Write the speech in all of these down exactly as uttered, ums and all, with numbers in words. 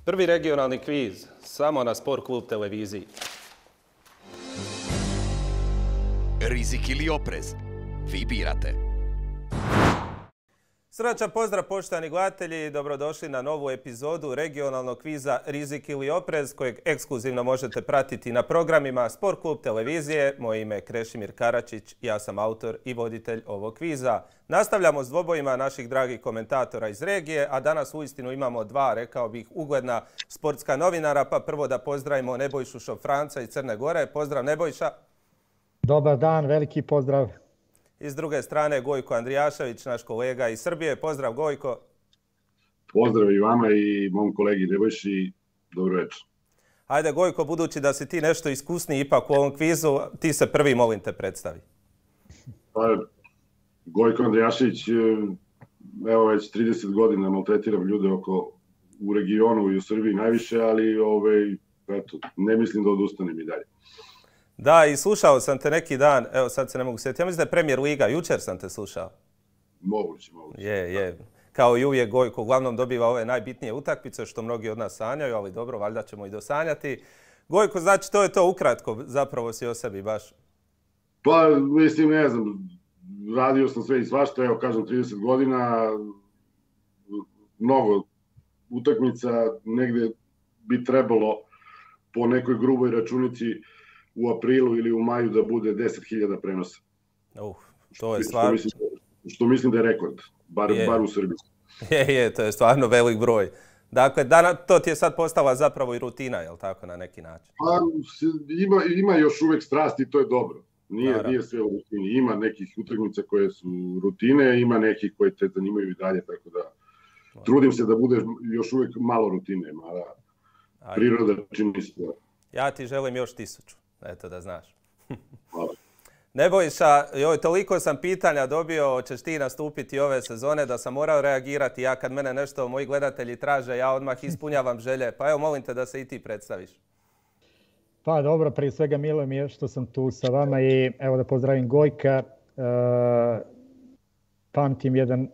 Prvi regionalni kviz, samo na Sport klub televiziji. Rizik ili oprez? Vi birate. Srdačan pozdrav poštovani gledatelji, dobrodošli na novu epizodu regionalnog kviza Rizik ili oprez kojeg ekskluzivno možete pratiti na programima Sport klub televizije. Moje ime je Krešimir Karačić, ja sam autor i voditelj ovog kviza. Nastavljamo s dvobojima naših dragih komentatora iz regije, a danas uistinu imamo dva, rekao bih, ugledna sportska novinara, pa prvo da pozdravimo Nebojšu Šofranca iz Crne Gore. Pozdrav Nebojša. Dobar dan, veliki pozdrav. I s druge strane Gojko Andrijašević, naš kolega iz Srbije. Pozdrav Gojko. Pozdrav i vama i mom kolegi Nebojši. Dobro večer. Ajde Gojko, budući da si ti nešto iskusniji ipak u ovom kvizu, ti se prvi molim te predstavi. Pa, Gojko Andrijašević, evo već trideset godina maltretiram ljude oko, u regionu i u Srbiji najviše, ali ovaj, eto, ne mislim da odustanem i dalje. Da, i slušao sam te neki dan, evo sad se ne mogu sjetiti, ja mislim da je Premier Liga, jučer sam te slušao. Moguće, moguće. Je, je. Kao i uvijek Gojko uglavnom dobiva ove najbitnije utakmice, što mnogi od nas sanjaju, ali dobro, valjda ćemo i dosanjati. Gojko, znači to je to ukratko, zapravo si o sebi baš. Pa, mislim, ne znam, radio sam sve i svašta, evo kažem trideset godina, mnogo utakmica, negde bi trebalo po nekoj gruboj računici u aprilu ili u maju da bude deset hiljada prenosa. Uh, to je stvarno... Što mislim, što mislim da je rekord, bar, je. bar u Srbiji. Je, je, to je stvarno velik broj. Dakle, dana, to ti je sad postala zapravo i rutina, je li tako, na neki način? Pa, ima, ima još uvek strasti i to je dobro. Nije, nije sve u rutini. Ima nekih utakmica koje su rutine, ima nekih koje te zanimaju i dalje, tako da trudim se da bude još uvek malo rutine, mada priroda čini se. Ja ti želim još tisuću. Eto da znaš. Hvala. Nebojša, joj, toliko sam pitanja dobio, hoćeš ti nastupiti ove sezone da sam morao reagirati. Ja kad mene nešto moji gledatelji traže, ja odmah ispunjavam želje. Pa evo, molim te da se i ti predstaviš. Pa dobro, prije svega milo mi je što sam tu sa vama i evo da pozdravim Gojka. E, pamtim jedan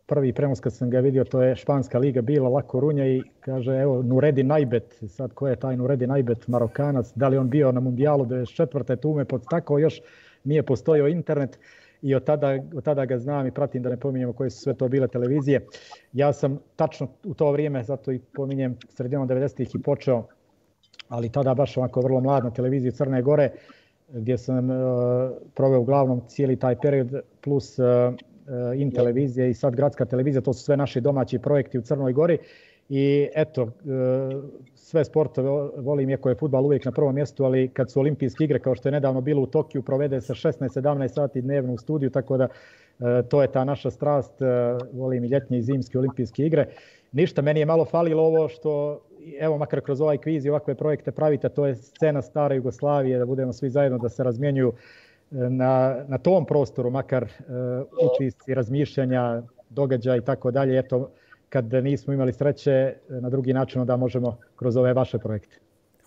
prvi prenos kad sam ga vidio, to je Španska liga bila, Lako Runja i kaže evo Nureddin Aibet, sad ko je taj Nureddin Aibet, Marokanac, da li on bio na mundijalu devedeset četvrte tu me podstakao, još nije postojao internet i od tada, od tada ga znam i pratim, da ne pominjemo koje su sve to bile televizije. Ja sam tačno u to vrijeme, zato i pominjem sredinom devedesetih i počeo, ali tada baš ovako vrlo mlad na televiziji Crne Gore, gdje sam uh, proveo uglavnom cijeli taj period plus uh, in televizije i sad gradska televizija, to su sve naši domaći projekti u Crnoj Gori i eto, sve sportove volim, iako je fudbal uvijek na prvom mjestu, ali kad su olimpijske igre, kao što je nedavno bilo u Tokiju, provede se šesnaest sedamnaest sati dnevno u studiju, tako da to je ta naša strast, volim i ljetnje i zimske olimpijske igre. Ništa, meni je malo falilo ovo što, evo makar kroz ovaj kviz i ovakve projekte pravite, to je scena stare Jugoslavije, da budemo svi zajedno, da se razmjenjuju Na, na tom prostoru, makar uh, utisci, razmišljanja, događaja i tako dalje. Eto, kad nismo imali sreće na drugi način, da možemo kroz ove vaše projekte.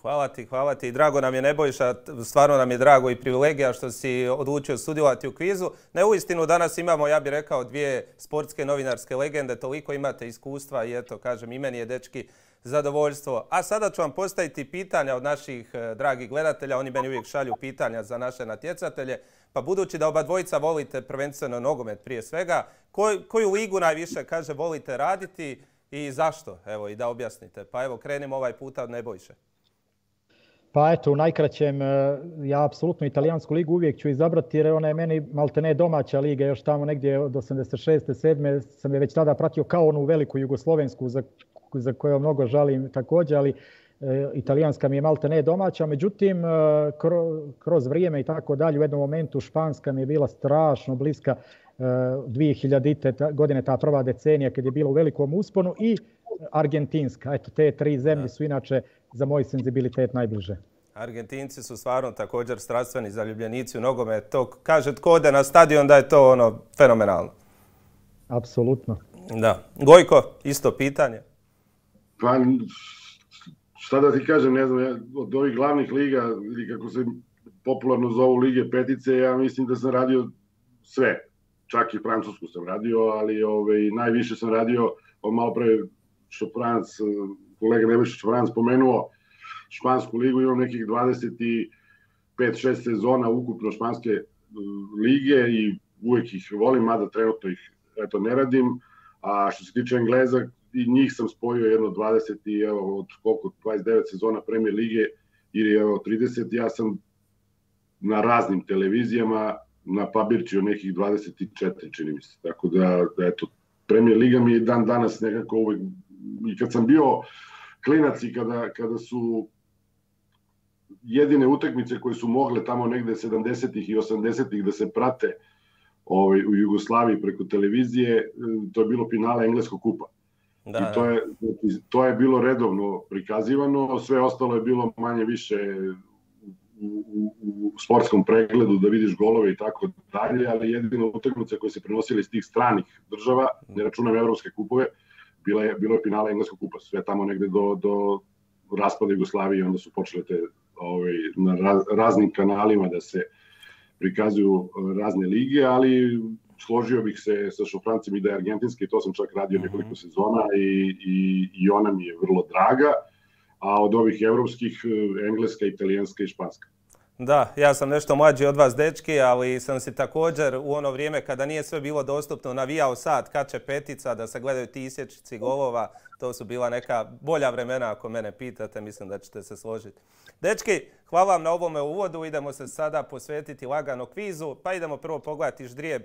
Hvala ti, hvala ti. Drago nam je Nebojša, stvarno nam je drago i privilegija što si odlučio sudjelovati u kvizu. Ne, uistinu danas imamo, ja bih rekao, dvije sportske novinarske legende, toliko imate iskustva i eto, kažem, i meni je, dečki, zadovoljstvo. A sada ću vam postaviti pitanja od naših dragih gledatelja, oni meni uvijek šalju pitanja za naše natjecatelje, pa budući da oba dvojica volite prvenstveno nogomet prije svega, koj, koju ligu najviše, kaže, volite raditi i zašto? Evo, i da objasnite. Pa evo, krenimo ovaj puta od Nebojše. Pa eto, u najkraćem, ja apsolutno italijansku ligu uvijek ću izabrati jer ona je meni maltene domaća liga, još tamo negdje od osamdeset šeste sedme sam je već tada pratio kao onu veliku jugoslovensku za, za koju mnogo žalim također, ali e, italijanska mi je maltene domaća, međutim kro, kroz vrijeme i tako dalje u jednom momentu španska mi je bila strašno bliska, e, dvije hiljadite godine, ta prva decenija kad je bila u velikom usponu i argentinska, eto te tri zemlje su inače za moj senzibilitet najbliže. Argentinci su stvarno također strastveni zaljubljenici u nogomet. To kaže tko ode na stadion da je to ono fenomenalno. Apsolutno. Da. Gojko, isto pitanje. Pa šta da ti kažem, ne znam, od ovih glavnih liga ili kako se popularno zovu lige petice, ja mislim da sam radio sve. Čak i francusku sam radio, ali ove, najviše sam radio, malo pre Šofranc kolega Nebojša Čvaran spomenuo špansku ligu, imam nekih dvadeset pet šest sezona ukupno španske lige i uvek ih volim, mada trenutno ih eto, ne radim. A što se tiče Engleza, i njih sam spojio jedno dvadeset i evo, od koliko, dvadeset devet sezona Premier lige ili evo trideset, ja sam na raznim televizijama na Pabirčiju nekih dvadeset četiri, čini mi se. Tako da, da eto, Premier liga mi je dan danas nekako uvek, i kad sam bio klinac i kada, kada su jedine utakmice koje su mogle tamo negde sedamdesetih i osamdesetih da se prate ovaj, u Jugoslaviji preko televizije, to je bilo finale Engleskog kupa. Da, I to je, to je bilo redovno prikazivano, sve ostalo je bilo manje više u, u, u sportskom pregledu da vidiš golove i tako dalje, ali jedina utakmica koje se prenosile iz tih stranih država, ne računam evropske kupove, bila je, bilo je finale Engleskog kupa, sve tamo negde do, do raspada Jugoslavije, onda su počele te ovaj, na raz, raznim kanalima da se prikazuju razne lige, ali složio bih se sa Šofrancem i da je argentinski, to sam čak radio nekoliko sezona i, i, i ona mi je vrlo draga, a od ovih evropskih, engleska, italijanska i španska. Da, ja sam nešto mlađi od vas, dečki, ali sam si također u ono vrijeme kada nije sve bilo dostupno navijao sat, kače petica, da se gledaju ti isječci golova. To su bila neka bolja vremena, ako mene pitate, mislim da ćete se složiti. Dečki, hvala vam na ovome uvodu, idemo se sada posvetiti lagano kvizu, pa idemo prvo pogledati ždrijeb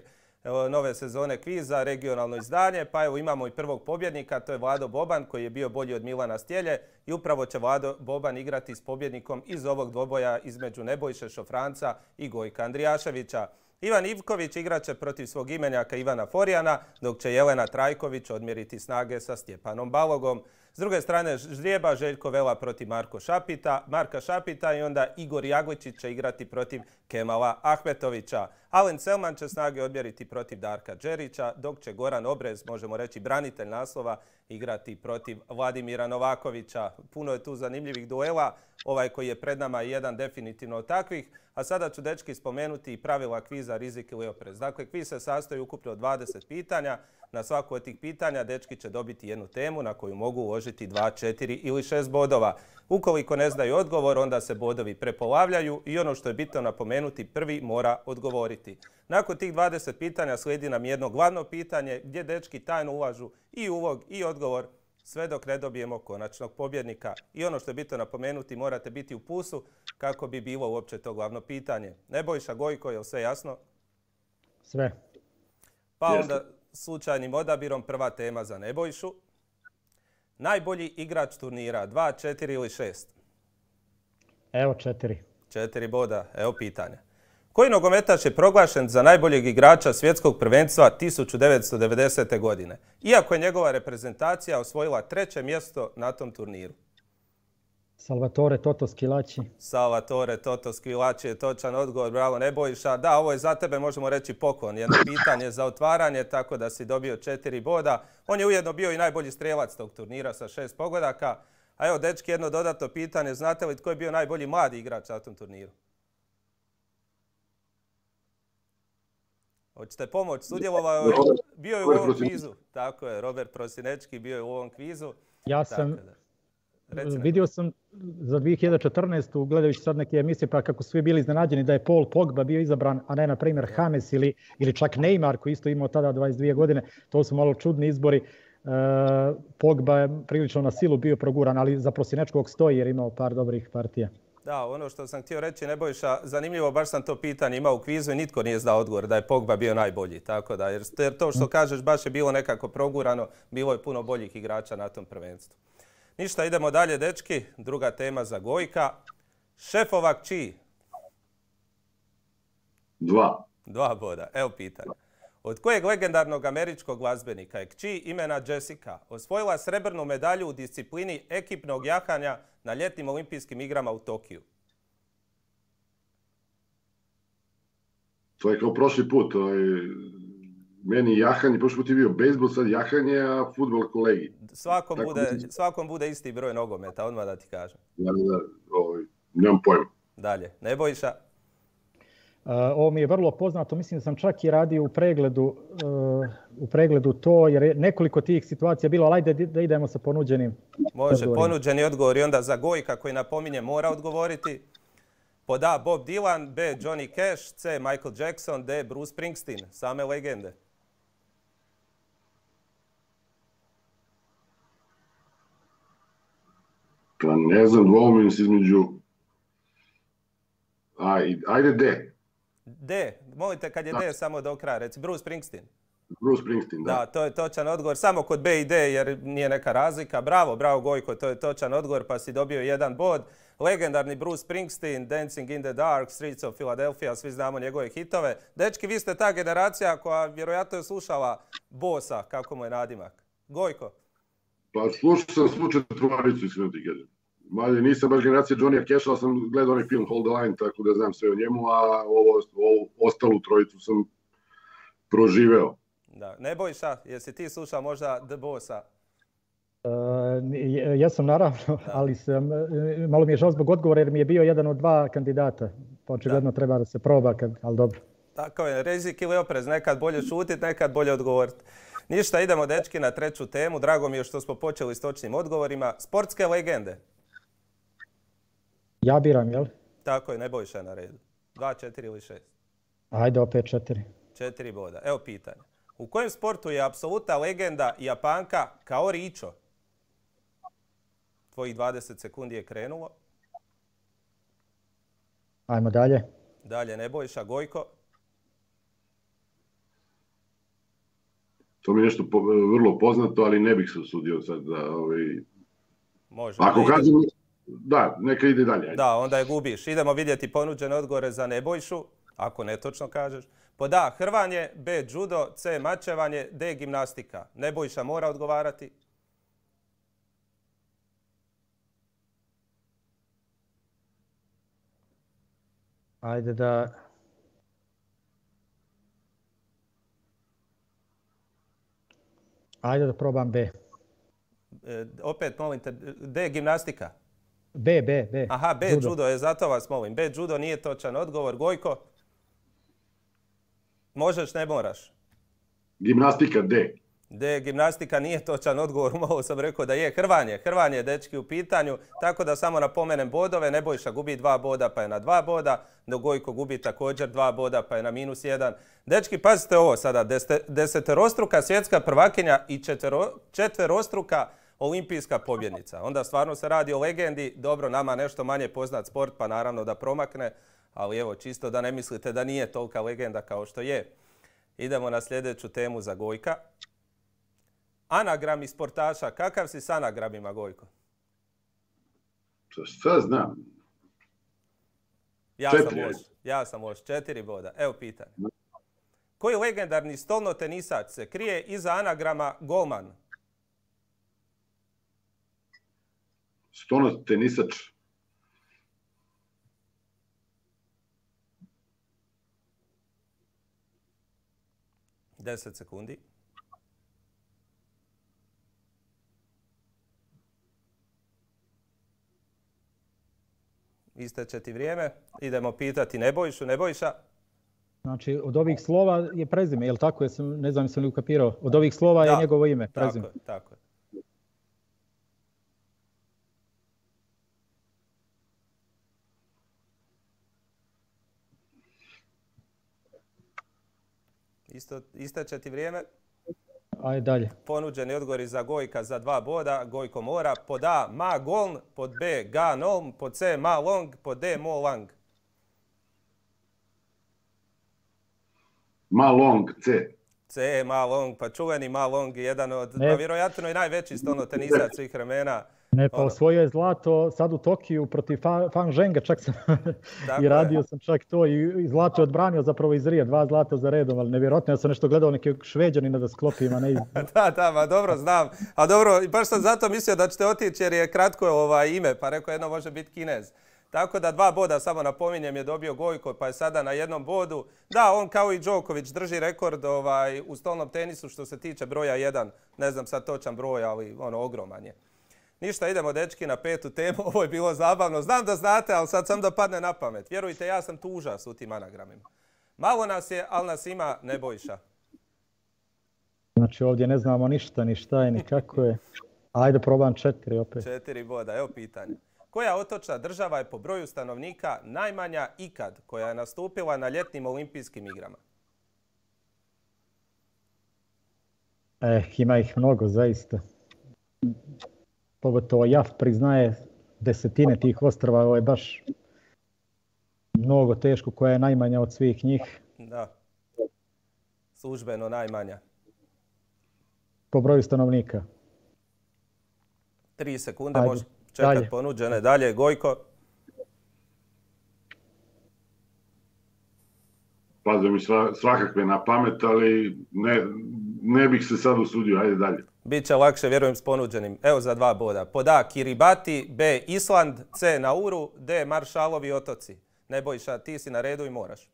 nove sezone kviza, regionalno izdanje, pa evo imamo i prvog pobjednika, to je Vlado Boban koji je bio bolji od Milana Stjelje i upravo će Vlado Boban igrati s pobjednikom iz ovog dvoboja između Nebojše Šofranca i Gojka Andrijaševića. Ivan Ivković igraće protiv svog imenjaka Ivana Forijana, dok će Jelena Trajković odmjeriti snage sa Stjepanom Balogom. S druge strane ždrijeba Željko Vela protiv Marko Šapita, Marka Šapita i onda Igor Jagličić će igrati protiv Kemala Ahmetovića. Alen Selman će snage odmjeriti protiv Darka Đerića, dok će Goran Obrez, možemo reći branitelj naslova, igrati protiv Vladimira Novakovića. Puno je tu zanimljivih duela, ovaj koji je pred nama je jedan definitivno od takvih. A sada ću, dečki, spomenuti i pravila kviza Rizik ili oprez. Dakle, kviz se sastoji ukupno od dvadeset pitanja. Na svaku od tih pitanja dečki će dobiti jednu temu na koju mogu uložiti dva, četiri ili šest bodova. Ukoliko ne znaju odgovor, onda se bodovi prepolavljaju i ono što je bitno napomenuti, prvi mora odgovoriti. Nakon tih dvadeset pitanja slijedi nam jedno glavno pitanje gdje dečki tajno ulažu i ulog i odgovor sve dok ne dobijemo konačnog pobjednika. I ono što je bitno napomenuti, morate biti u plusu kako bi bilo uopće to glavno pitanje. Nebojša, Gojko, je li sve jasno? Sve. Pa onda slučajnim odabirom prva tema za Nebojšu. Najbolji igrač turnira, dva, četiri ili šest? Evo četiri. Četiri boda, evo pitanja. Koji nogometaš je proglašen za najboljeg igrača svjetskog prvenstva tisuću devetsto devedesete. godine, iako je njegova reprezentacija osvojila treće mjesto na tom turniru? Salvatore Toto Schillaci. Salvatore Toto Schillaci je točan odgovor, bravo Nebojša. Da, ovo je za tebe, možemo reći, poklon. Jedno pitanje za otvaranje, tako da si dobio četiri boda. On je ujedno bio i najbolji strijelac tog turnira sa šest pogodaka. A evo, dečki, jedno dodatno pitanje. Znate li tko je bio najbolji mladi igrač na tom turniru? Hoćete pomoć? Sudjelovao je, bio je u ovom kvizu. Tako je, Robert Prosinečki bio je u ovom kvizu. Ja sam... Vidio sam za dvije hiljade četrnaestu. gledajući sad neke emisije, pa kako su svi bili iznenađeni da je Paul Pogba bio izabran, a ne na primjer James ili, ili čak Neymar koji isto imao tada dvadeset dvije godine. To su malo čudni izbori. E, Pogba je prilično na silu bio proguran, ali za Prosinečkog stoji jer imao par dobrih partija. Da, ono što sam htio reći, Nebojša, zanimljivo, baš sam to pitanje imao u kvizu i nitko nije znao odgovor da je Pogba bio najbolji. Tako da, jer to što kažeš baš je bilo nekako progurano, bilo je puno boljih igrača na tom prvenstvu. Ništa, idemo dalje, dečki. Druga tema za Gojka. Šefova kći? Dva. Dva boda. Evo pitanje. Od kojeg legendarnog američkog glazbenika je kći imena Jessica osvojila srebrnu medalju u disciplini ekipnog jahanja na ljetnim olimpijskim igrama u Tokiju? To je kao prošli put. Meni jahanje, prošli put je bio bejsbol, sad jahanje, a fudbal kolegi. Svakom bude, svakom bude isti broj nogometa, odmah da ti kažem. Da, da, ovaj, nemam pojma. Dalje, Nebojša? Ovo mi je vrlo poznato, mislim da sam čak i radio u pregledu, u pregledu to, jer je nekoliko tih situacija bilo, ali ajde da idemo sa ponuđenim Može, odgovorima. Ponuđeni odgovor i onda za Gojka koji napominje mora odgovoriti. Pod A Bob Dylan, B Johnny Cash, C Michael Jackson, D Bruce Springsteen, same legende. Pa ne znam, dvoumim se između... Ajde D. D, molite kad je D samo do kraja, reci Bruce Springsteen. Bruce Springsteen, da. Da, to je točan odgovor, samo kod B i D jer nije neka razlika. Bravo, bravo Gojko, to je točan odgovor pa si dobio jedan bod. Legendarni Bruce Springsteen, Dancing in the Dark, Streets of Philadelphia, svi znamo njegove hitove. Dečki, vi ste ta generacija koja vjerojatno je slušala Bossa, kako mu je nadimak. Gojko? Pa slušao sam svu četvoricu, iskreno ti kažem. Malje, nisam baš generacija Johnny Casha, ali sam gledao onaj film Hold the Line, tako da znam sve o njemu, a ovo, ovo ostalu trojicu sam proživeo. Da. Nebojša, jesi ti slušao možda The Bossa? Uh, ja sam naravno, da. ali sam, malo mi je žao zbog odgovora jer mi je bio jedan od dva kandidata. Pa očigledno da. treba da se proba, kad, ali dobro. Tako je, rizik ili oprez, nekad bolje šutit, nekad bolje odgovoriti. Ništa, idemo dečki na treću temu. Drago mi je što smo počeli s točnim odgovorima. Sportske legende. Ja biram, jel? Tako je, Nebojša je na redu. Dva, četiri ili šest? Ajde, opet četiri. Četiri boda. Evo pitanje. U kojem sportu je apsolutna legenda Japanka Kaori Icho? Tvojih dvadeset sekundi je krenulo. Ajmo dalje. Dalje, Nebojša. Gojko? To mi je nešto po, vrlo poznato, ali ne bih se usudio sad da... Ovaj... Može. Ako kažem... Da, neka ide dalje. Ajde. Da, onda je gubiš. Idemo vidjeti ponuđene odgovore za Nebojšu, ako netočno kažeš. Pod A hrvanje, B judo, C mačevanje, D gimnastika. Nebojša mora odgovarati. Ajde da... Ajde da probam B. E, opet molim te, D gimnastika. B, B, B. Aha, B judo. judo je, zato vas molim. B judo nije točan odgovor. Gojko? Možeš, ne moraš. Gimnastika D. D, gimnastika nije točan odgovor. Malo sam rekao da je. Hrvanje. Hrvanje je dečki u pitanju. Tako da samo napomenem bodove. Nebojša gubi dva boda pa je na dva boda. No Gojko gubi također dva boda pa je na minus jedan. Dečki, pazite ovo sada. Deseterostruka svjetska prvakinja i četvero, četverostruka olimpijska pobjednica. Onda stvarno se radi o legendi. Dobro, nama nešto manje poznat sport pa naravno da promakne. Ali evo, čisto da ne mislite da nije tolika legenda kao što je. Idemo na sljedeću temu za Gojka. Anagrami sportaša. Kakav si s anagramima, Gojko? Šta znam? Ja sam loš. Ja sam loš. Četiri boda. Evo pitanje. Koji legendarni stolnotenisač se krije iza anagrama golman? Stolnotenisač. Deset sekundi. Isteče ti vrijeme. Idemo pitati Nebojšu. Nebojša? Znači, od ovih slova je prezime, je li tako? Jesam, ne znam, sam li ukapirao. Od ovih slova da, je njegovo ime, prezime. Tako je, tako je. Isto, isteče ti vrijeme. Ajde dalje. Ponuđeni odgovori za Gojka za dva boda. Gojko mora. Pod A Ma Goln, pod B Ga Nolm, pod C Ma Long, pod D Mo Lang. Ma Long, C. C, Ma Long, pa čuveni Ma Long, jedan od, pa vjerojatno i najveći stolnotenisač svih vremena. Ne, pa osvojio je zlato sad u Tokiju protiv Fang Zhenga, čak sam i radio je. sam čak to i, i zlato je odbranio zapravo iz Rija, dva zlata za redom, ali nevjerojatno, ja sam nešto gledao neke Šveđanina da sklopim, a ne iz... da, da, ma dobro, znam. A dobro, baš sam zato mislio da ćete otići jer je kratko ovaj ime, pa rekao jedno može biti Kinez. Tako da dva boda, samo napominjem, je dobio Gojko, pa je sada na jednom bodu. Da, on kao i Đoković drži rekord ovaj, u stolnom tenisu što se tiče broja jedan. Ne znam sad točan broj, ali ono, ogroman je. Ništa, idemo dečki na petu temu, ovo je bilo zabavno. Znam da znate, ali sad sam da padne na pamet. Vjerujte, ja sam tu užas u tim anagramima. Malo nas je, ali nas ima Nebojša. Znači ovdje ne znamo ništa, ni šta je, ni kako je. Ajde probam četiri opet. Četiri boda, evo pitanje. Koja otočna država je po broju stanovnika najmanja ikad koja je nastupila na ljetnim olimpijskim igrama? Eh, ima ih mnogo, zaista. Pogotovo J A F priznaje desetine tih ostrva, ovo je baš mnogo teško, koja je najmanja od svih njih. Da, službeno najmanja. Po broju stanovnika. Tri sekunde, može čekati ponuđene. Dalje, Gojko. Pada mi svakakve na pamet, ali ne, ne bih se sad usudio. Ajde dalje. Biće lakše, vjerujem, s ponuđenim. Evo za dva boda. Pod A, Kiribati, B, Island, C, Nauru, D, Maršalovi otoci. Nebojša, ti si na redu i moraš.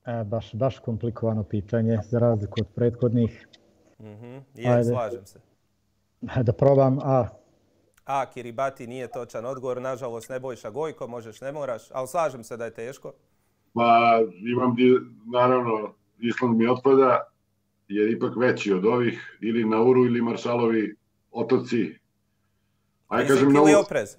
E, baš, baš komplikovano pitanje, za razliku od prethodnih. Mm-hmm. Je, slažem se. Da probam A. A, Kiribati nije točan odgovor, nažalost. Nebojša, Gojko, možeš, ne moraš, ali slažem se da je teško. Pa imam, naravno, Island mi otpada, jer ipak veći od ovih, ili Nauru ili Maršalovi otoci. Ajde kažem Nauru. Oprez?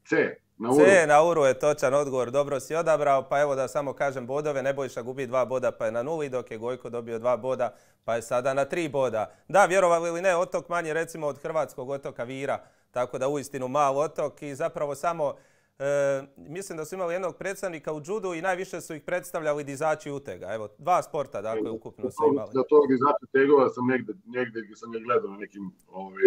C, Nauru. C, Nauru je točan odgovor, dobro si odabrao, pa evo da samo kažem bodove, Nebojša gubi dva boda pa je na nuli, dok je Gojko dobio dva boda pa je sada na tri boda. Da, vjerovali ili ne, otok manji recimo od hrvatskog otoka Vira, tako da uistinu mal otok i zapravo samo, e, mislim da su imali jednog predstavnika u judu i najviše su ih predstavljali dizači utega. Evo, dva sporta, dakle, ukupno su imali. Za tog dizača tegova sam negde, negde gdje sam je gledao na nekim ovaj,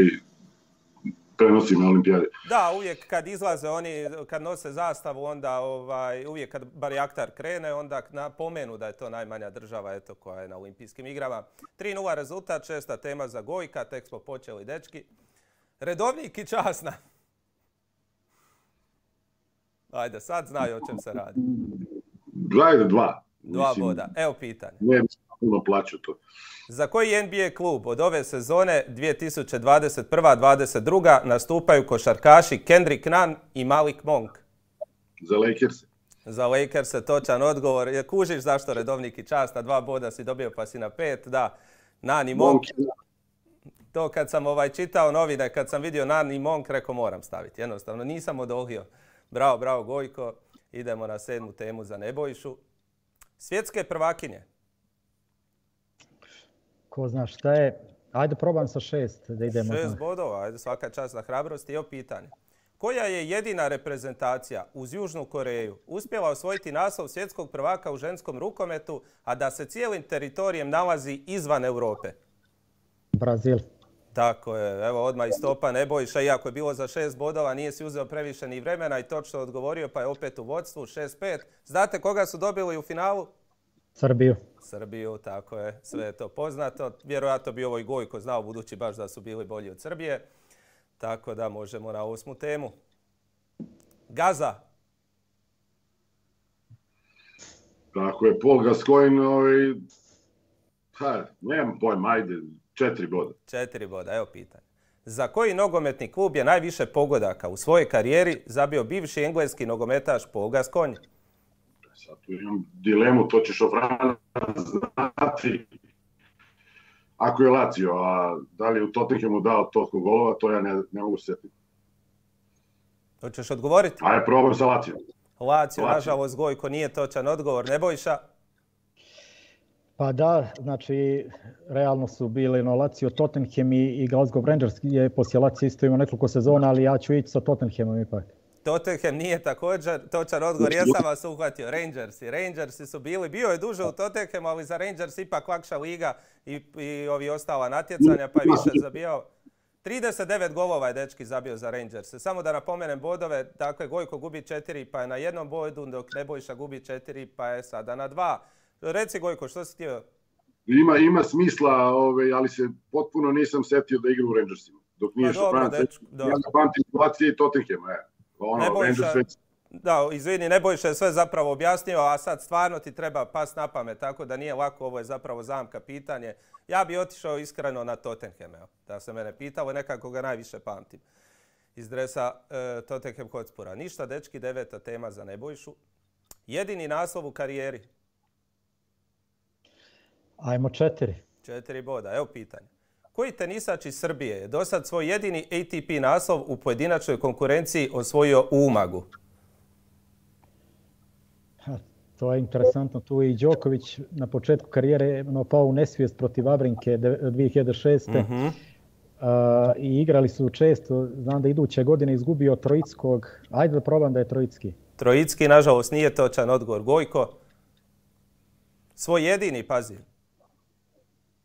prenosima na olimpijade. Da, uvijek kad izlaze oni, kad nose zastavu, onda ovaj, uvijek kad barjaktar krene, onda napomenu da je to najmanja država eto, koja je na olimpijskim igrama. tri nula rezultat, šesta tema za Gojka, tek smo počeli dečki. Redovnik i časna. Ajde, sad znaju o čem se radi. Ajde, dva. Dva boda. Evo pitanje. Ne, puno plaću to. Za koji N B A klub od ove sezone dvije tisuće dvadeset prva dvadeset druga nastupaju košarkaši Kendrick Nunn i Malik Monk? Za Lakers. Za Lakers je točan odgovor. Je kužiš zašto redovnik i časna, dva boda si dobio pa si na pet, da. Nunn i Monk. To kad sam ovaj čitao novine, kad sam vidio Nunn i Monk, rekao moram staviti. Jednostavno, nisam odolio. Bravo, bravo Gojko. Idemo na sedmu temu za Nebojšu. Svjetske prvakinje. Ko zna šta je. Ajde probam sa šest. Da idemo. Šest bodova, ajde svaka čast za hrabrost. I evo pitanje. Koja je jedina reprezentacija uz Južnu Koreju uspjela osvojiti naslov svjetskog prvaka u ženskom rukometu, a da se cijelim teritorijem nalazi izvan Europe? Brazil. Tako je, evo odmah istopa Nebojša, iako je bilo za šest bodova, nije si uzeo previše ni vremena i točno odgovorio, pa je opet u vodstvu, šest pet. Znate koga su dobili u finalu? Srbiju. Srbiju, tako je, sve je to poznato. Vjerojatno bi ovo i Gojko znao, budući baš da su bili bolji od Srbije. Tako da možemo na osmu temu. Gaza. Tako je, Paul Gascoigne, ovaj, ha, nemam pojma, ajde, četiri boda. Četiri boda, evo pitanje. Za koji nogometni klub je najviše pogodaka u svojoj karijeri zabio bivši engleski nogometaš Paul Gascoigne? Sad tu imam dilemu, to ćeš Ofrana znati. Ako je Lazio, a da li je u Tottenhamu dao toliko golova, to ja ne, ne mogu sjetiti. Hoćeš odgovoriti? Ajde, probam sa Lazio. Lazio, nažalost, Gojko, nije točan odgovor. Nebojša? Pa da, znači, realno su bili no Lazio, Tottenham i, i Glasgow Rangers je poslije Lazio isto imao nekoliko sezona, ali ja ću ići sa Tottenhamom ipak. Tottenham nije također točan odgovor, ja sam vas uhvatio. Rangersi. Rangersi su bili, bio je duže u Tottenhamu, ali za Rangers ipak lakša liga i, i ovi ostala natjecanja, pa je više zabijao. trideset devet golova je dečki zabio za Rangers. Samo da napomenem bodove, dakle Gojko gubi četiri pa je na jednom bodu, dok Nebojša gubi četiri pa je sada na dva. Reci Gojko, što si htio? Ima, ima smisla, ove, ali se potpuno nisam setio da igra u Rangersima. Dok nije pa dobro, dečko, ja pamtim Lazio i Tottenham, e. Ono, Nebojša, Da, izvini, Nebojša je sve zapravo objasnio, a sad stvarno ti treba pas na pamet, tako da nije lako, ovo je zapravo zamka pitanje. Ja bi otišao iskreno na Tottenham, evo, da se mene pitalo, nekako ga najviše pamtim iz dresa e, Tottenham Hotspura. Ništa, dečki, deveta tema za Nebojšu. Jedini naslov u karijeri? Ajmo četiri. Četiri boda, evo pitanje. Koji tenisač iz Srbije je do sad svoj jedini A T P naslov u pojedinačnoj konkurenciji osvojio u Umagu? To je interesantno. Tu je i Đoković na početku karijere no, pao u nesvijest protiv Vavrinke dvije hiljade šeste. Mm-hmm. uh, I igrali su često. Znam da iduće godine izgubio Trojickog. Ajde da probam da je Trojicki. Trojicki, nažalost, nije točan odgovor. Gojko? Svoj jedini, pazi.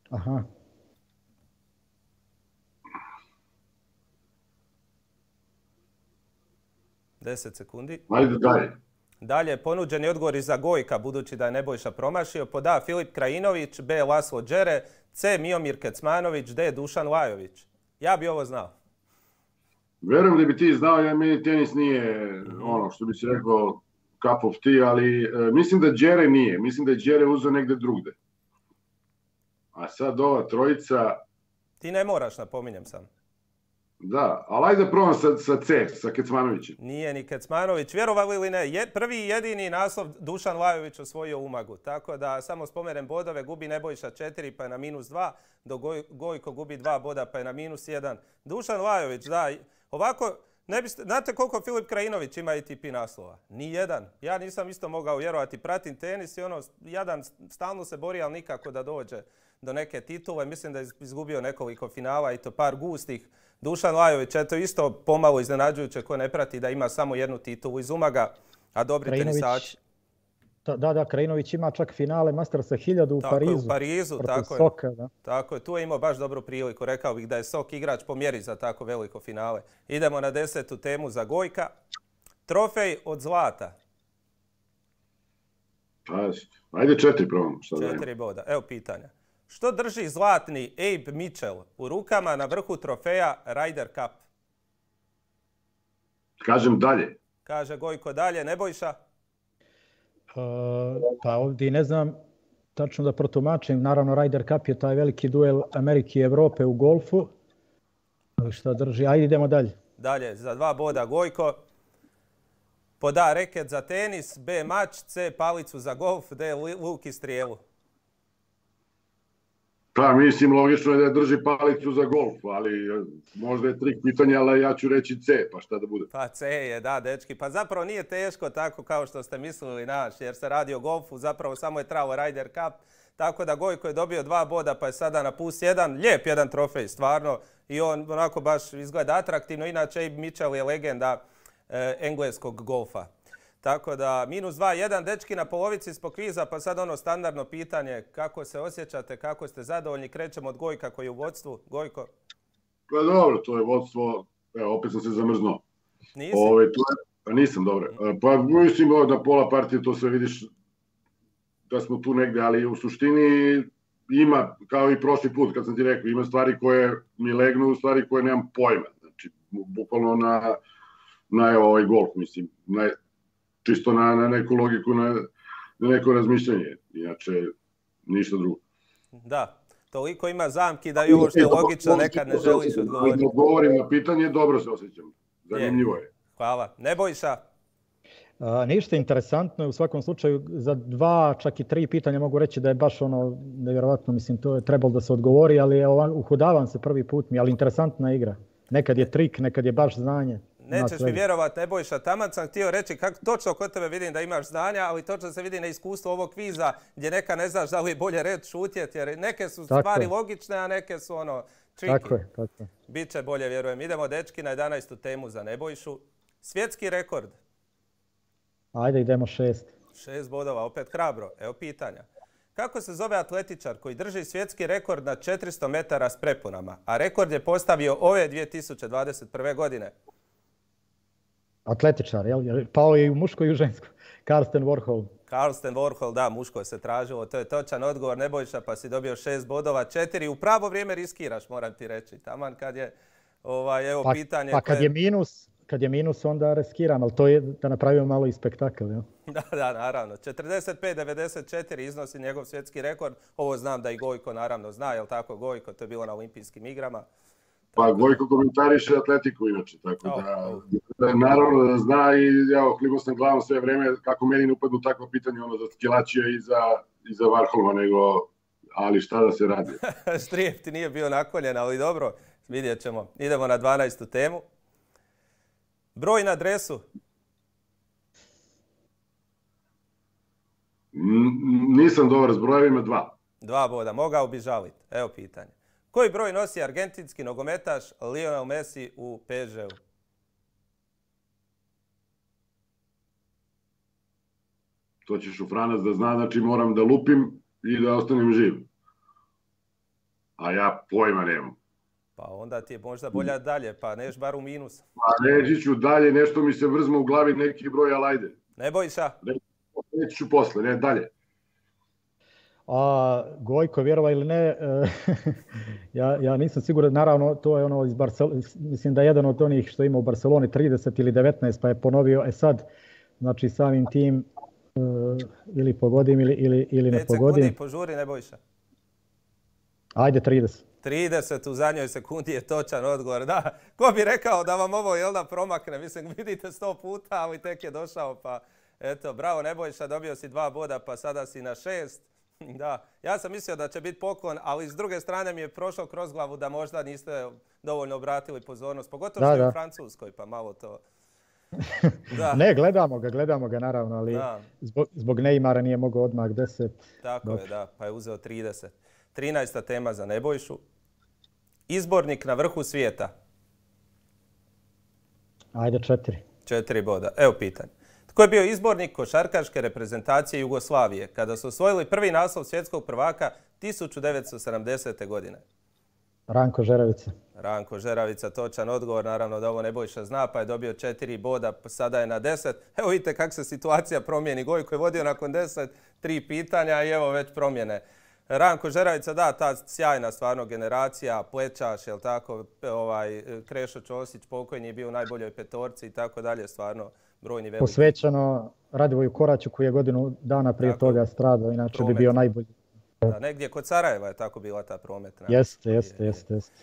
Aha. Deset sekundi. Ajde dalje. Dalje, ponuđeni odgovori za Gojka, budući da je Nebojša promašio. Pod A. Filip Krajinović, B. Laslo Đere, C. Miomir Kecmanović, D. Dušan Lajović. Ja bi ovo znao. Verujem da bi ti znao, ja meni tenis nije ono što bi si rekao cup of tea, ali e, mislim da Đere nije. Mislim da je Đere uzeo negde drugde. A sad ova trojica... Ti ne moraš, napominjem sam. Da, ali ajde probam sa, sa C, sa Kecmanovićem. Nije ni Kecmanović, vjerovali ili ne. Je, prvi i jedini naslov Dušan Lajović osvojio u Umagu. Tako da samo spomenem bodove, gubi Nebojša četiri pa je na minus dva, dok Goj, Gojko gubi dva boda pa je na minus jedan. Dušan Lajović, da, ovako, ne biste, znate koliko Filip Krajinović ima A T P naslova? Ni jedan. Ja nisam isto mogao vjerovati, pratim tenis i ono, jadan stalno se bori, ali nikako da dođe do neke titule. Mislim da je izgubio nekoliko finala i to par gustih. Dušan Lajović, eto isto pomalo iznenađujuće ko ne prati da ima samo jednu titulu iz Umaga, a dobri tenisači. Da, da, Krajinović ima čak finale Mastersa hiljadu u tako Parizu. Je, u Parizu, tako Soka, je. Da. Tako je, tu je imao baš dobru priliku. Rekao bih da je Sok igrač po mjeri za tako veliko finale. Idemo na desetu temu za Gojka. Trofej od zlata. Ajde četiri probam. Četiri boda. Evo pitanja. Što drži zlatni Abe Mitchell u rukama na vrhu trofeja Ryder Cup? Kažem dalje. Kaže Gojko dalje. Nebojša? Uh, pa ovdje ne znam tačno da protumačim. Naravno, Ryder Cup je taj veliki duel Amerike i Evrope u golfu. Šta drži? Ajde idemo dalje. Dalje, za dva boda Gojko. Pod A reket za tenis, B mač, C palicu za golf, D luk i strijelu. Pa mislim, logično je da drži palicu za golf, ali možda je trik pitanja, ali ja ću reći C, pa šta da bude. Pa C je, da, dečki. Pa zapravo nije teško tako kao što ste mislili naš, jer se radi o golfu, zapravo samo je trao Ryder Cup. Tako da Gojko je dobio dva boda, pa je sada na plus jedan. Lijep jedan trofej, stvarno. I on onako baš izgleda atraktivno. Inače, Abe Mitchell je legenda e, engleskog golfa. Tako da, minus dva, jedan, dečki na polovici smo kviza, pa sad ono standardno pitanje, kako se osjećate, kako ste zadovoljni, krećemo od Gojka koji je u vodstvu. Gojko? Pa dobro, to je vodstvo, evo, opet sam se zamrznuo. Nisi? Ove, to je, pa nisam, dobro. Pa mislim da pola partije to sve vidiš da smo tu negde, ali u suštini ima, kao i prošli put kad sam ti rekao, ima stvari koje mi legnu, stvari koje nemam pojma. Znači, bukvalno na, na evo, ovaj golf, mislim, na, čisto na, na neku logiku, na, na neko razmišljanje. Inače, ništa drugo. Da, toliko ima zamki da i ovo što je logično nekad ne želiš odgovoriti. Kad odgovorim na pitanje, dobro se osjećam. Zanimljivo je. Hvala. Nebojša? A, ništa interesantno. U svakom slučaju, za dva, čak i tri pitanja mogu reći da je baš ono, nevjerovatno, mislim, to je trebalo da se odgovori, ali je uhodavam se prvi put mi, ali interesantna igra. Nekad je trik, nekad je baš znanje. Nećeš mi vjerovat, Nebojša, taman sam htio reći kako točno kod tebe vidim da imaš znanja, ali točno se vidi na iskustvu ovog kviza gdje neka ne znaš da li je bolje red šutjet, jer neke su tako stvari je logične, a neke su ono tricky. Tako je, tako je. Biće bolje, vjerujem. Idemo, dečki, na jedanaestu temu za Nebojšu. Svjetski rekord. Ajde, idemo šest. Šest bodova, opet hrabro. Evo pitanja. Kako se zove atletičar koji drži svjetski rekord na četiristo metara s prepunama, a rekord je postavio ove dvije tisuće dvadeset prve. godine? Atletičar, jel? Pao je i u muškoj i u ženskoj. Karsten Warhol. Karsten Warhol, da, muško se tražilo. To je točan odgovor, Nebojša, pa si dobio šest bodova, četiri. U pravo vrijeme riskiraš, moram ti reći. Taman kad je, ovaj, evo pa, pitanje... Pa kad koje... je minus, kad je minus, onda riskiram, ali to je da napravimo malo i spektakl. Ja? Da, da, naravno. četrdeset pet devedeset četiri iznosi njegov svjetski rekord. Ovo znam da i Gojko naravno zna, jel tako Gojko? To je bilo na olimpijskim igrama. Pa Gojko komentariše atletiku inače, tako oh, da, oh. da naravno da zna i ja oklinuo sam glavom sve vreme kako meni ne upadnu takva pitanja ono za Skilačija i za, i za Varholma, nego ali šta da se radi. Štrijef ti nije bio naklonjen, ali dobro, vidjet ćemo. Idemo na dvanaestu temu. Broj na dresu. N- nisam dobar s brojevima, dva. Dva boda, mogao bi žaliti. Evo pitanje. Koji broj nosi argentinski nogometaš Lionel Messi u P S G-u? To ćeš u Franac da zna, znači moram da lupim i da ostanem živ. A ja pojma nemam. Pa onda ti je možda bolja dalje, pa neš bar u minus. Pa neći ću dalje, nešto mi se vrzma u glavi neki broj, ali ajde. Ne Bojša? Ne, neći ću posle, ne dalje. A Gojko, vjerova ili ne, ja, ja nisam siguran, naravno to je ono iz Barcelone, mislim da je jedan od onih što ima u Barceloni trideset ili devetnaest, pa je ponovio, e sad, znači samim tim uh, ili pogodim ili, ili, ili ne pogodim. pet sekundi požuri, ne Bojša. Ajde, trideset. trideset u zadnjoj sekundi je točan odgovor. Da, ko bi rekao da vam ovo jel da promakne, mislim vidite sto puta, ali tek je došao, pa eto, bravo Nebojša, dobio si dva boda, pa sada si na šest. Da, ja sam mislio da će biti poklon, ali s druge strane mi je prošao kroz glavu da možda niste dovoljno obratili pozornost, pogotovo što je u Francuskoj, pa malo to... Da. Ne, gledamo ga, gledamo ga naravno, ali zbog, zbog Neymara nije mogao odmah deset. Tako Dok. je, da, pa je uzeo trideset. trinaesta tema za Nebojšu. Izbornik na vrhu svijeta. Ajde, četiri. Četiri boda. Evo pitanje. Tko je bio izbornik košarkaške reprezentacije Jugoslavije kada su osvojili prvi naslov svjetskog prvaka tisuću devetsto sedamdesete. godine? Ranko Žeravica. Ranko Žeravica, točan odgovor. Naravno da ovo Nebojša zna, pa je dobio četiri boda, sada je na deset. Evo vidite kako se situacija promijeni. Gojko je vodio nakon deset, tri pitanja i evo već promjene. Ranko Žeravica, da, ta sjajna stvarno generacija, plečaš, jel tako, ovaj, Krešo Ćosić pokojni je bio u najboljoj petorci i tako dalje, stvarno brojni veliki. Posvećeno Radivoju Koraću koji je godinu dana prije tako, toga stradao, inače promet. Bi bio najbolji. Da, negdje kod Sarajeva je tako bila ta prometna. Jeste, jeste, jeste. Jest.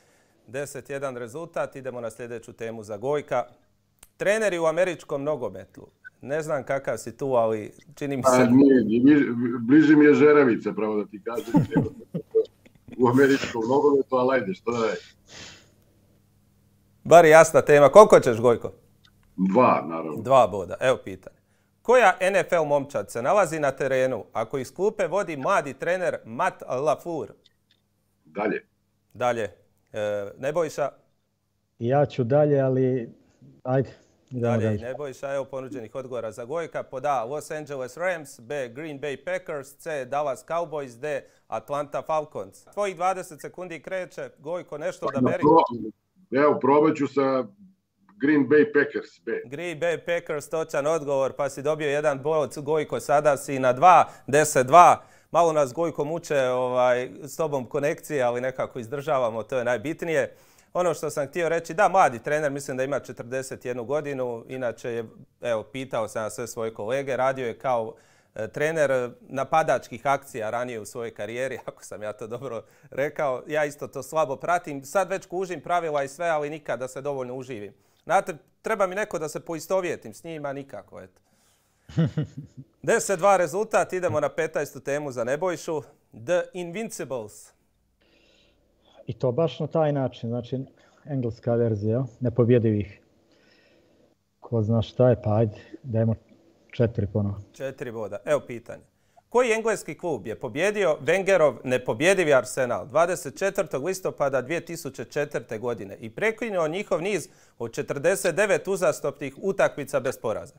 deset jedan rezultat, idemo na sljedeću temu za Gojka. Treneri u američkom nogometu. Ne znam kakav si tu, ali čini mi se... A, nije, nije, bliži mi je Žeravica, pravo da ti kažem. U američkom nogometu, ali ajde, što da je? Bar jasna tema. Koliko ćeš, Gojko? Dva, naravno. Dva boda. Evo pitanje. Koja N F L momčad se nalazi na terenu ako iz klupe vodi mladi trener Matt LaFleur? Dalje. Dalje. E, Nebojša? Ja ću dalje, ali ajde. Dalje, dalje. Nebojša, evo ponuđenih odgovora za Gojka. Pod A, Los Angeles Rams, B, Green Bay Packers, C, Dallas Cowboys, D, Atlanta Falcons. Tvojih dvadeset sekundi kreće. Gojko, nešto da beri. Evo, probat ću sa Green Bay Packers, B. Green Bay Packers, točan odgovor, pa si dobio jedan bod, Gojko, sada si na dva, deset dva. Malo nas Gojko muče ovaj, s tobom konekcije, ali nekako izdržavamo, to je najbitnije. Ono što sam htio reći, da, mladi trener, mislim da ima četrdeset jednu godinu, inače je, evo, pitao sam na sve svoje kolege, radio je kao e, trener napadačkih akcija ranije u svojoj karijeri, ako sam ja to dobro rekao. Ja isto to slabo pratim, sad već kužim pravila i sve, ali nikad da se dovoljno uživim. Znate, treba mi neko da se poistovjetim s njima, nikako, eto. deset dva rezultat, idemo na petnaestu temu za Nebojšu. The Invincibles. I to baš na taj način, znači engleska verzija, nepobjedivih. Ko zna šta je, pa ajde, dajmo četiri ponovo. Četiri boda. Evo pitanje. Koji engleski klub je pobjedio Wengerov nepobjedivi Arsenal dvadeset četvrtog listopada dvije tisuće četvrte. godine i prekinuo njihov niz od četrdeset devet uzastopnih utakmica bez poraza?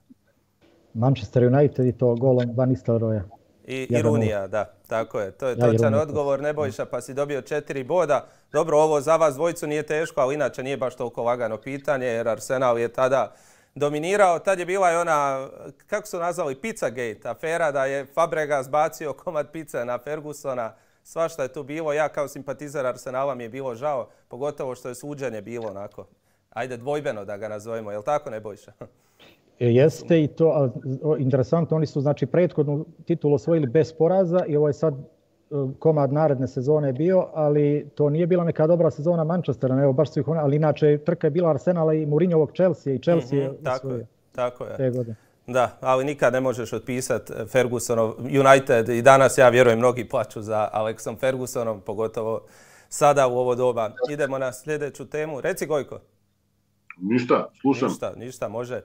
Manchester United i to golom Van Nistelrooya. I Irunija, da, tako je. To je ja, točan odgovor, Nebojša, pa si dobio četiri boda. Dobro, ovo za vas dvojicu nije teško, ali inače nije baš toliko lagano pitanje, jer Arsenal je tada dominirao. Tad je bila i ona, kako su nazvali, Pizzagate, afera da je Fabregas bacio komad pice na Fergusona. Svašta je tu bilo. Ja kao simpatizer Arsenala mi je bilo žao, pogotovo što je suđenje bilo onako ajde dvojbeno da ga nazovemo, je li tako Nebojša? Jeste i to interesantno, oni su znači prethodnu titulu osvojili bez poraza i ovo je sad komad naredne sezone je bio, ali to nije bila neka dobra sezona Manchestera, evo baš su ih one, ali inače trka je bila Arsenala i Mourinhovog Chelsea i Chelsea je mm-hmm, tako je, tako je. te godine. Da, ali nikad ne možeš otpisati Fergusonov United i danas ja vjerujem mnogi plaču za Alexom Fergusonom, pogotovo sada u ovo doba. Idemo na sljedeću temu. Reci Gojko. Ništa, slušam. Ništa, ništa, može.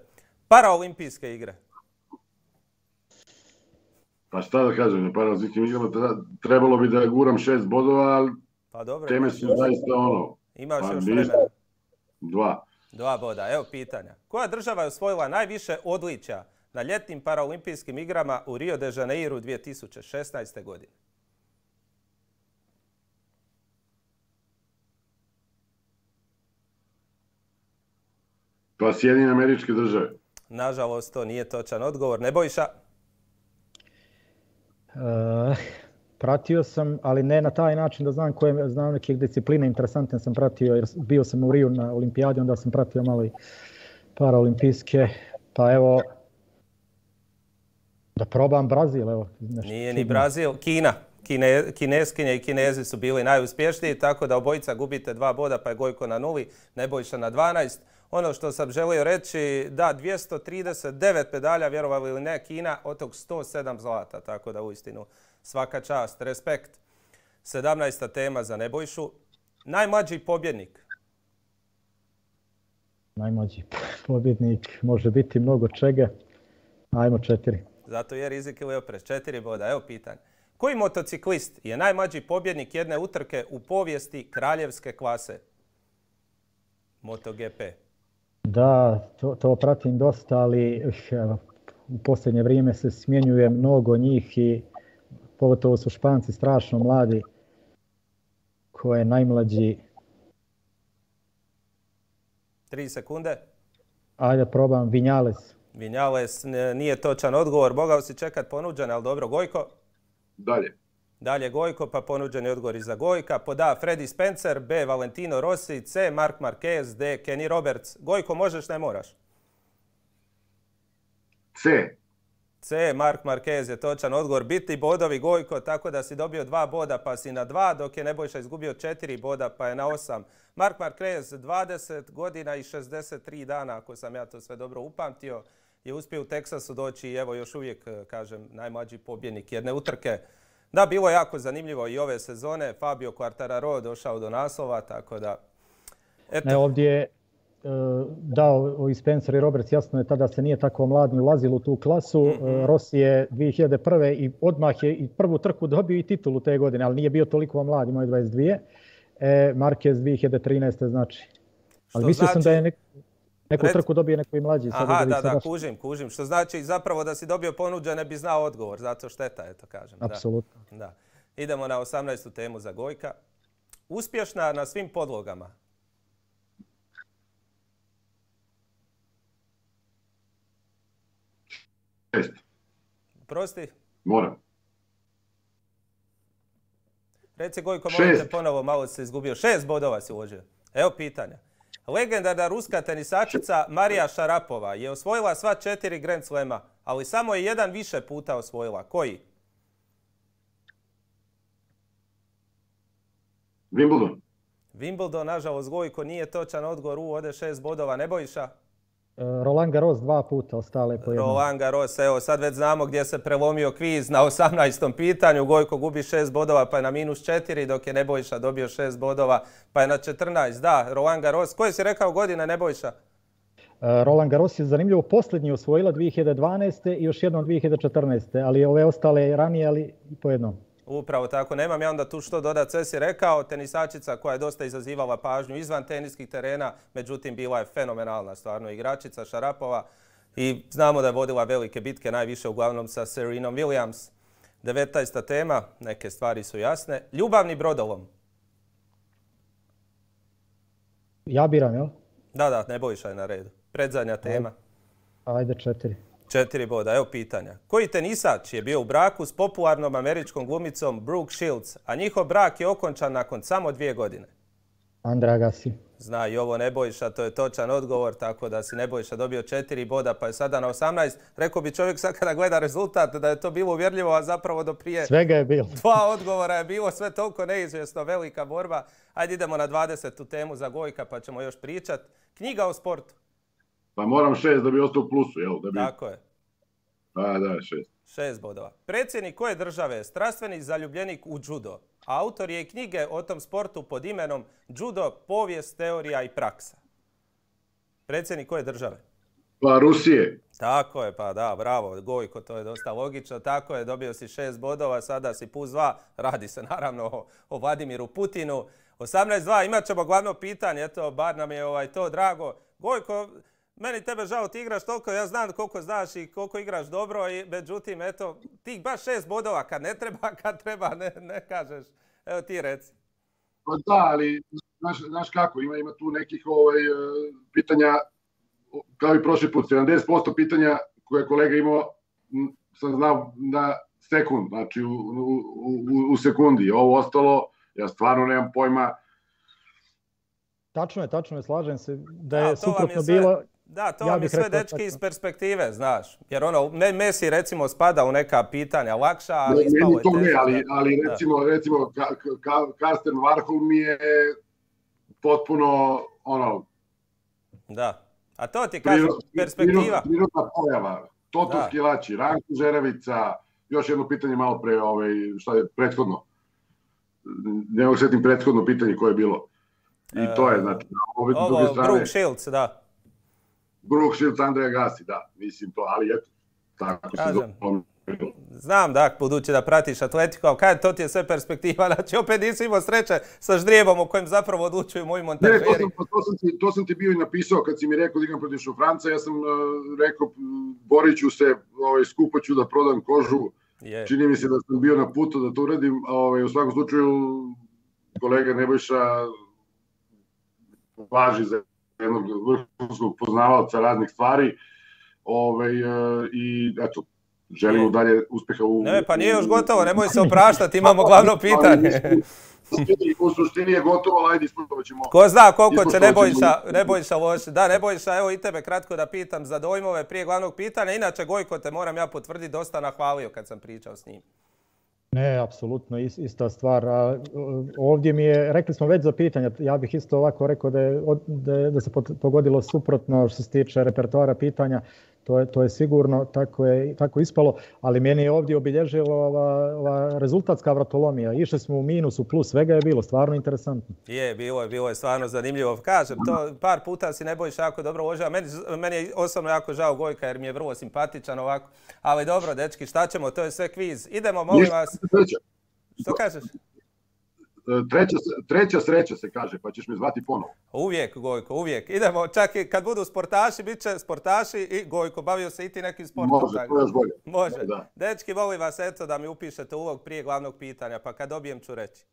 Paraolimpijske igre. Pa šta da kažem, paraolimpijskim igrama trebalo bi da guram šest bodova, ali pa dobro, teme su zaista ono. Imaš pa još ništa. vremena. Dva. Dva boda. Evo pitanja. Koja država je osvojila najviše odličja na ljetnim paraolimpijskim igrama u Rio de Janeiru dvije tisuće šesnaeste. godine? Pa Sjedinjene Američke Države. Nažalost, to nije točan odgovor. Nebojša? Uh, pratio sam, ali ne na taj način da znam koje, znam neke discipline interesantne sam pratio, jer bio sam u Riju na olimpijadi, onda sam pratio malo i paraolimpijske, pa evo, da probam Brazil, evo. Nešto nije ni Brazil, Kina. Kine, kineskinje i Kinezi su bili najuspješniji, tako da obojica gubite dva boda, pa je Gojko na nuli, Nebojša na dvanaest. Ono što sam želio reći, da, dvjesto trideset devet medalja, vjerovali ili ne, Kina, od tog sto sedam zlata, tako da uistinu svaka čast, respekt. sedamnaesta tema za Nebojšu. Najmlađi pobjednik. Najmlađi pobjednik može biti mnogo čega. Ajmo četiri. Zato je rizik ili oprez. Četiri boda. Evo pitanje. Koji motociklist je najmlađi pobjednik jedne utrke u povijesti kraljevske klase? MotoGP. Da, to, to pratim dosta, ali u posljednje vrijeme se smjenjuje mnogo njih i pogotovo su Španci strašno mladi. Ko je najmlađi? Tri sekunde. Ajde probam, Vinales. Vinales nije točan odgovor. Mogao si čekat ponuđen, ali dobro. Gojko? Dalje. Dalje Gojko, pa ponuđeni odgovor i za Gojka. Pod A. Freddy Spencer, B. Valentino Rossi, C. Marc Marquez, D. Kenny Roberts. Gojko, možeš, ne moraš? C. C. Marc Marquez je točan odgovor. Bitni bodovi Gojko, tako da si dobio dva boda pa si na dva, dok je Nebojša izgubio četiri boda pa je na osam. Marc Marquez, dvadeset godina i šezdeset tri dana, ako sam ja to sve dobro upamtio, je uspio u Teksasu doći i evo još uvijek, kažem, najmlađi pobjednik jedne utrke. Da, bilo je jako zanimljivo i ove sezone. Fabio Quartararo došao do naslova, tako da... Eto. Ne, ovdje je uh, dao i Spencer i Roberts, jasno je tada se nije tako mladni ulazilo u tu klasu. Mm-hmm. Uh, Rossi je dvije hiljade prve. i odmah je i prvu trku dobio i titulu te godine, ali nije bio toliko mlad, imao je dvadeset dvije. E, Marquez dvije hiljade trinaeste. znači. Ali Što mislio znači... sam da je nek... Neku Red... trku dobije neko i mlađi. Aha, da, da, kužim, kužim. Što znači zapravo da si dobio ponuđen ne bi znao odgovor, zato šteta, eto kažem. Apsolutno. Da. Da. Idemo na osamnaestu temu za Gojka. Uspješna na svim podlogama. Šest. Prosti? Moram. Reci Gojko, molim te ponovo, malo se izgubio. Šest bodova si uložio. Evo pitanja. Legendarna ruska tenisačica Marija Šarapova je osvojila sva četiri Grand Slema, ali samo je jedan više puta osvojila. Koji? Wimbledon. Wimbledon, nažalost, Gojko, nije točan odgovor. U, ode šest bodova. Nebojša? Roland Garros dva puta, ostale po jednom. Roland Garros, evo sad već znamo gdje se prelomio kviz na osamnaestom pitanju. Gojko gubi šest bodova pa je na minus četiri, dok je Nebojša dobio šest bodova pa je na četrnaest. Da, Roland Garros. Koje si rekao godine, Nebojša? Roland Garros je zanimljivo posljednji osvojila dvije hiljade dvanaeste. i još jednom dvije hiljade četrnaeste. ali ove ostale ranije, ali i po jednom. Upravo tako, nemam ja onda tu što dodati, sve si rekao, tenisačica koja je dosta izazivala pažnju izvan teniskih terena, međutim bila je fenomenalna stvarno igračica Šarapova i znamo da je vodila velike bitke, najviše uglavnom sa Serenom Williams. devetnaesta tema, neke stvari su jasne. Ljubavni brodolom. Ja biram, jel? Da, da, Nebojša je na redu. Predzadnja tema. Ajde četiri. Četiri boda, evo pitanja. Koji tenisač je bio u braku s popularnom američkom glumicom Brooke Shields, a njihov brak je okončan nakon samo dvije godine? Andre Agassi. Zna i ovo Nebojša, to je točan odgovor, tako da si Nebojša dobio četiri boda, pa je sada na osamnaest. Rekao bi čovjek sad kada gleda rezultat da je to bilo uvjerljivo, a zapravo do prije Svega je bilo. dva odgovora je bilo, sve toliko neizvjesno, velika borba. Ajde idemo na dvadesetu temu za Gojka, pa ćemo još pričat. Knjiga o sportu. Pa moram šest da bi ostao u plusu, jel? Da bi... Tako je. Pa da, šest. Šest bodova. Predsjednik koje države je strastveni zaljubljenik u judo? Autor je i knjige o tom sportu pod imenom Judo, povijest, teorija i praksa. Predsjednik koje države? Pa Rusije. Tako je, pa da, bravo, Gojko, to je dosta logično. Tako je, dobio si šest bodova, sada si plus dva. Radi se naravno o, o Vladimiru Putinu. osamnaest dva, imat ćemo glavno pitanje, eto, bar nam je ovaj, to drago. Gojko, meni tebe žao, ti igraš toliko, ja znam koliko znaš i koliko igraš dobro, i međutim, eto, ti baš šest bodova kad ne treba, kad treba, ne, ne kažeš. Evo ti reci. Pa da, ali znaš, znaš kako, ima, ima tu nekih ovaj, pitanja, kao i prošli put, sedamdeset posto pitanja koje je kolega imao, sam znao na sekund, znači u, u, u, u sekundi. Ovo ostalo, ja stvarno nemam pojma. Tačno je, tačno je, slažem se da je da, suprotno sve... bilo... Da, to ja vam je sve rekao, dečki iz perspektive, znaš. Jer ono, Messi recimo spada u neka pitanja lakša, ali ne, ispalo je to ne, teže. ali, ali recimo, recimo ka, ka, Karsten Warhol mi je potpuno, ono... Da, a to ti kažem, perspektiva. Prirodna pojava, Toto Skilači, Ranko Žeravica, još jedno pitanje malo pre, ovaj, šta je prethodno. Ne mogu setim prethodno pitanje koje je bilo. I to je, znači, ove ovo, druge strane... Brooke Shields, da. Brooke Shields, Andre Agassi, da, mislim to, ali eto, tako se zove. Znam, da, budući da pratiš Atletico, ali kaj, to ti je sve perspektiva, znači opet nisi imao sreće sa ždrijebom u kojem zapravo odlučuju moji montažeri. Ne, to sam, to, sam ti, to sam ti bio i napisao kad si mi rekao da igram protiv Šufranca, ja sam uh, rekao, borit ću se, ovaj, skupo ću da prodam kožu, je. Čini mi se da sam bio na putu da to uradim, ovaj, u svakom slučaju kolega Nebojša važi za jednog vrhunskog poznavalca raznih stvari, ovaj, i eto, želimo dalje uspeha u... Ne, pa nije još gotovo, nemoj se opraštati, imamo glavno pitanje. U suštini je gotovo, ali ajde ispustovat ćemo... Ko zna koliko će Nebojša, Nebojša loši. Da, Nebojša, evo i tebe kratko da pitam za dojmove prije glavnog pitanja. Inače, Gojko, te moram ja potvrditi, dosta nahvalio kad sam pričao s njim. Ne, apsolutno, ista stvar. A, ovdje mi je, rekli smo već za pitanja, ja bih isto ovako rekao da, je, da, je, da se pogodilo suprotno što se tiče repertoara pitanja. To je, to je sigurno, tako je tako ispalo, ali meni je ovdje obilježila ova, ova rezultatska vratolomija. Išli smo u minus, u plus, svega je bilo, stvarno interesantno. Je, bilo je, bilo je stvarno zanimljivo. Kažem, to par puta si Nebojša jako dobro uložio. Meni, meni je osobno jako žao Gojka jer mi je vrlo simpatičan ovako. Ali dobro, dečki, šta ćemo, to je sve kviz. Idemo, molim vas. Što kažeš? Treća, treća sreća se kaže, pa ćeš me zvati ponovo. Uvijek, Gojko, uvijek. Idemo, čak i kad budu sportaši, bit će sportaši i Gojko, bavio se i ti nekim sportom. Može, to još bolje. Može. Da. Dečki, molim vas, eto, da mi upišete ulog prije glavnog pitanja, pa kad dobijem ću reći.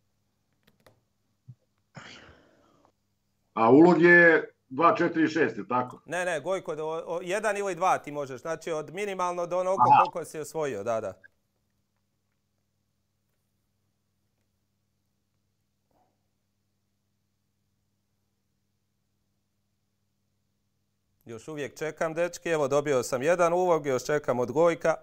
A ulog je dva, četiri, šest, je tako? Ne, ne, Gojko, do, jedan ili dva ti možeš, znači od minimalno do onoga koliko si osvojio, da, da. Još uvijek čekam, dečki. Evo, dobio sam jedan ulog, još čekam od Gojka.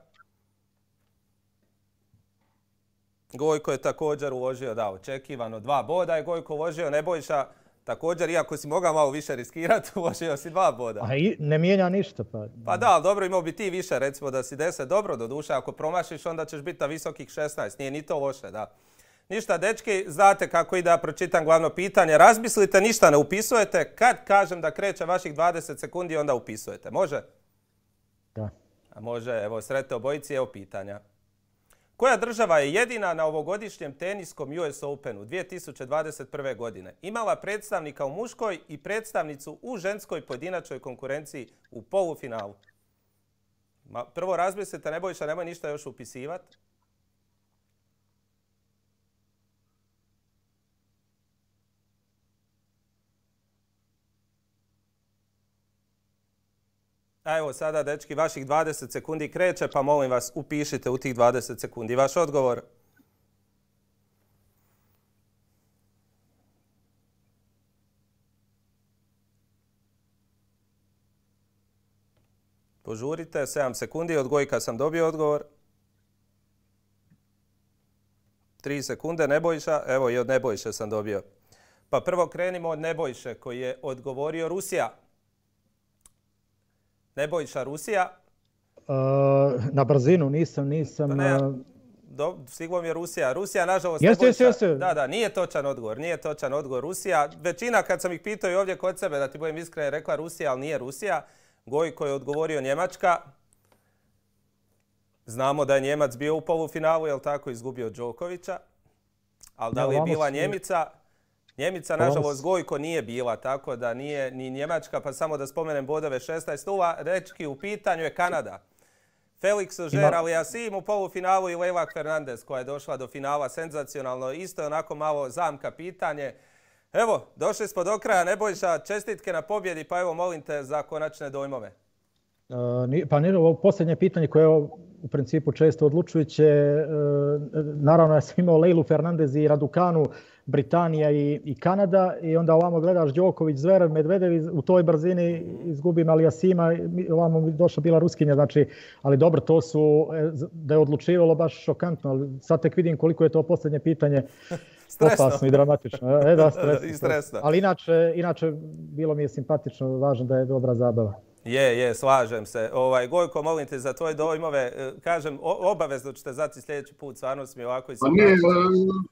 Gojko je također uložio, da, očekivano dva boda je Gojko uložio. Nebojša također, iako si mogao malo više riskirati, uložio si dva boda. A i ne mijenja ništa. Pa, pa da, ali dobro, imao bi ti više, recimo da si deset, dobro, do duše. Ako promašiš, onda ćeš biti na visokih šesnaest. Nije ni to loše, da. Ništa, dečki, znate kako ide da pročitam glavno pitanje. Razmislite, ništa ne upisujete. Kad kažem da kreće vaših dvadeset sekundi, onda upisujete. Može? Da. A može, evo, sretno obojici, evo pitanja. Koja država je jedina na ovogodišnjem teniskom U S Openu dvije tisuće dvadeset prve. godine imala predstavnika u muškoj i predstavnicu u ženskoj pojedinačnoj konkurenciji u polufinalu? Ma, prvo razmislite, Nebojša, nemoj ništa još upisivati. A evo sada, dečki, vaših dvadeset sekundi kreće, pa molim vas upišite u tih dvadeset sekundi vaš odgovor. Požurite, sedam sekundi, od Gojka sam dobio odgovor. tri sekunde, Nebojša, evo i od Nebojše sam dobio. Pa prvo krenimo od Nebojše koji je odgovorio Rusija. Nebojša, Rusija? Uh, na brzinu nisam, nisam... Ne, do, stiglo mi je Rusija. Rusija, nažalost, jeste, Nebojša... jeste, jeste. Da, da, nije točan odgovor, nije točan odgovor Rusija. Većina, kad sam ih pitao i ovdje kod sebe, da ti budem iskren, je rekla Rusija, ali nije Rusija. Gojko je odgovorio Njemačka. Znamo da je Njemac bio u polufinalu, jel tako, izgubio Đokovića. Ali da li je bila Njemica? Njemica, nažalost, Gojko nije bila, tako da nije ni Njemačka, pa samo da spomenem bodove šesnaest nula. Rečki u pitanju je Kanada. Felix Auger-Aliassime u polufinalu i Leila Fernandez koja je došla do finala senzacionalno. Isto je onako malo zamka pitanje. Evo, došli smo do kraja. Nebojša, čestitke na pobjedi, pa evo molim te za konačne dojmove. Uh, pa nije ovo posljednje pitanje koje je u principu često odlučujuće. Uh, naravno ja sam imao Leilu Fernandez i Raducanu, Britanija i, i Kanada i onda ovamo gledaš Đoković, Zverev, Medvedev u toj brzini izgubim Aliassima, ovamo mi došla bila Ruskinja, znači, ali dobro, to su, da je odlučivalo baš šokantno, ali sad tek vidim koliko je to posljednje pitanje opasno i dramatično. E, da, stresno, I stresno. Ali inače, inače bilo mi je simpatično, važno da je dobra zabava. Je, je, slažem se. Ovaj, Gojko, molim te za tvoje dojmove. Kažem, obavezno ćete zati sljedeći put, stvarno mi ovako i pa nije,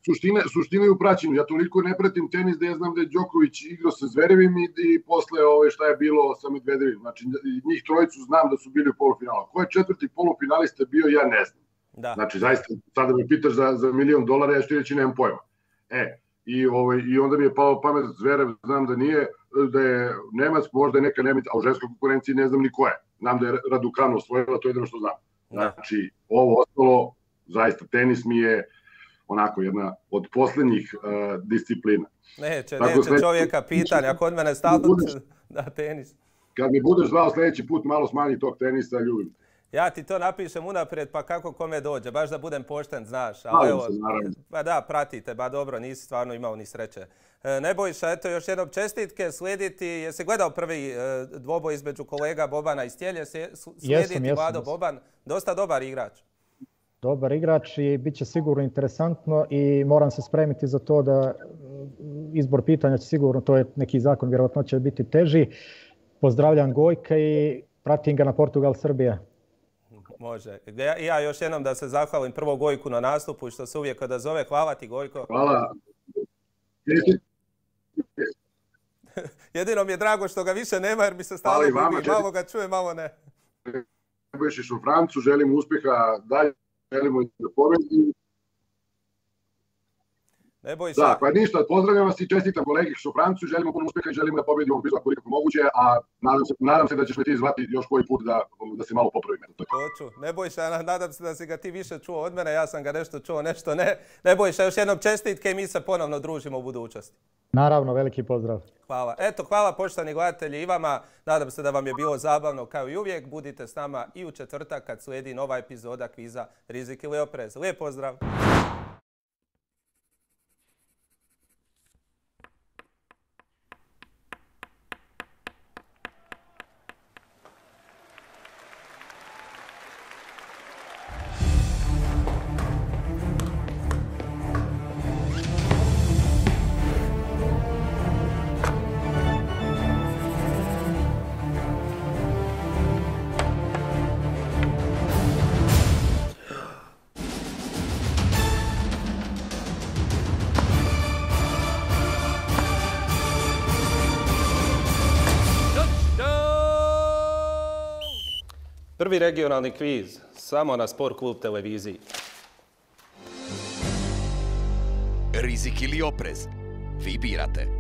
suština, suština je u praćenju. Ja toliko ne pratim tenis da ja znam da je Đoković igrao sa Zverevim i, i posle ove, šta je bilo sa Medvedevim. Znači, njih trojicu znam da su bili u polufinalu. Ko je četvrti polufinalista bio, ja ne znam. Da. Znači, zaista, sada me pitaš za, za milion dolara, ja što reći nemam pojma. E, i, ovaj, i onda mi je palo pamet Zverev, znam da nije, da je Nemac, možda je neka Nemica, a u ženskoj konkurenciji ne znam ni ko je. Znam da je Raducanu osvojila, to je jedno što znam. Znači, ovo ostalo, zaista, tenis mi je onako jedna od posljednjih uh, disciplina. Neće, Tako, neće čovjeka pitanja, kod mene stalno da tenis. Kad mi budeš zvao sljedeći put, malo smanji tog tenisa, ljubim. Ja ti to napišem unaprijed, pa kako kome dođe, baš da budem pošten, znaš. Ali evo, se, naravno. Pa da, pratite, ba dobro, nisi stvarno imao ni sreće. E, Nebojša, eto još jednom čestitke, slijediti, jesi gledao prvi e, dvoboj između kolega Bobana iz Tijelje, slijediti jesam, jesam, Vlado jesam. Boban, dosta dobar igrač. Dobar igrač i bit će sigurno interesantno i moram se spremiti za to da izbor pitanja će sigurno, to je neki zakon, vjerojatno će biti teži. Pozdravljam Gojka i pratim ga na Portugal-Srbija. Može. Ja, ja još jednom da se zahvalim prvo Gojku na nastupu što se uvijek kada zove. Hvala ti, Gojko. Hvala. Jedino mi je drago što ga više nema jer mi se stalno gubi. Malo ga čuje, malo ne. Nebojšić u Francu, želim uspjeha dalje, želimo da pobedi. Nebojša. Da, pa ništa, pozdravljam vas i čestitam kolegi u Francu, želimo puno uspjeha i želimo da pobedimo u koliko moguće, a nadam se, nadam se da ćeš me ti zvati još koji put da, da se malo popravim. Hoću. Nebojša, nadam se da si ga ti više čuo od mene, ja sam ga nešto čuo, nešto ne. Nebojša, još jednom čestitke i mi se ponovno družimo u budućnosti. Naravno, veliki pozdrav. Hvala. Eto, hvala poštovani gledatelji i vama. Nadam se da vam je bilo zabavno kao i uvijek. Budite s nama i u četvrtak kad slijedi nova epizoda kviza Rizik ili oprez. Lijep pozdrav! Prvi regionalni kviz, samo na Sport klub televiziji. Rizik ili oprez? Vi birate.